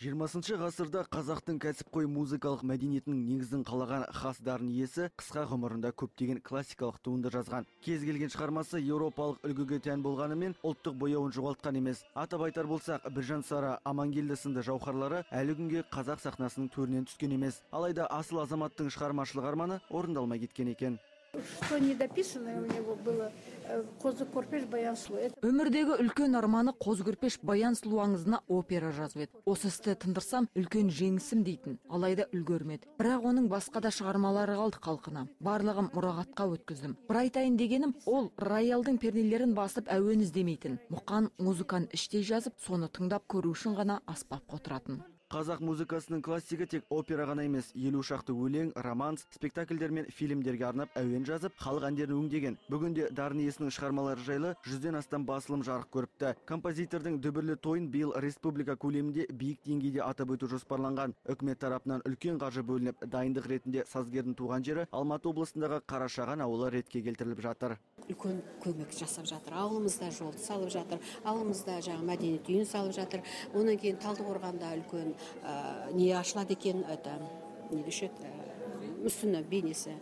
20 ғасырда қазақтың кәсіпқой музыкалық мәдениетінің негізін қалаған хас дарын иесі қысқа ғұмырында көптеген классикалық туынды жазған. Кез келген шығармасы еуропалық үлгіге тән болғанымен ұлттық бояуын жоғалтқан емес. Атап айтар болсақ, Біржан Сара, Амангелді сынды жауһарлары әлі күнге қазақ сахнасының төрінен түскен емес. Алайда асыл азаматтың шығармашылық арманы орындалмай кеткен екен. Что недописанное у него было «Қозы көрпеш баян сұлу». Өмірдегі үлкен арманы «Қозы көрпеш баян сұлу» аңызына опера жазып еді. Осы істі тындырсам, үлкен жеңісім дейтін. Алайда үлгермеді. Бірақ оның басқа да шығармалары қалды қалқына. Барлығым мұрағатқа өткіздім. Бір айтайын дегенім, ол роялдың пернелерін басып әуен іздемейтін. Мұқан музыканы іштей жазып, соны тыңдап көру үшін ғана аспапқа отыратын. Қазақ музыкасының классигі тек опера ғана емес, 50 шақты өлең, романс, спектакльдер мен фильмдерге арнап әуен жазып, халық әндерін өңдеген. Бүгінде дарын иесінің шығармалары жайлы 100-ден астам басылым жарық көріпті. Композитордың дүбірлі тойын биыл республика көлемінде биік деңгейде атап өту жоспарланған. Үкімет тарапынан үлкен қаржы бөлініп, дайындық ретінде сазгердің туған жері Алматы облысындағы Қарашаған ауылы ретке келтіріліп жатыр. Үлкен көмек жасап жатыр. Ауылымызда жолды салып жатыр. Ауылымызда жаңа мәдениет үйін салып жатыр. Онан кейін Талдықорғанда үлкен не ашылады екен, это не дешет, мүсіні бейнесі.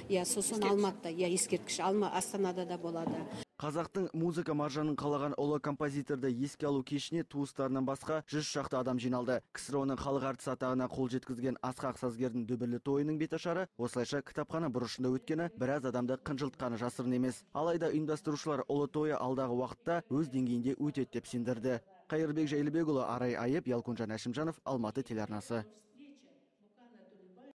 Я сосын Алматыда, я ескерткіш Астанада да болады. Қазақтың музыка маржанын қалаған ұлы композиторды еске алу кешіне туыстарынан басқа 100 шақты адам жиналды. КСРО-ның халық әртісі атағына қол жеткізген асқақ сазгердің дүбірлі тойының беташары осылайша кітапхана бұрышында өткені біраз адамды қынжылтқаны жасырын емес. Алайда ұйымдастырушылар ұлы тойы алдағы уақытта өз деңгейінде өтеді деп сендірді. Қайырбек Жайлыбекұлы, Арай Айып, Ялкунжан Әшімжанов, Алматы телеарнасы.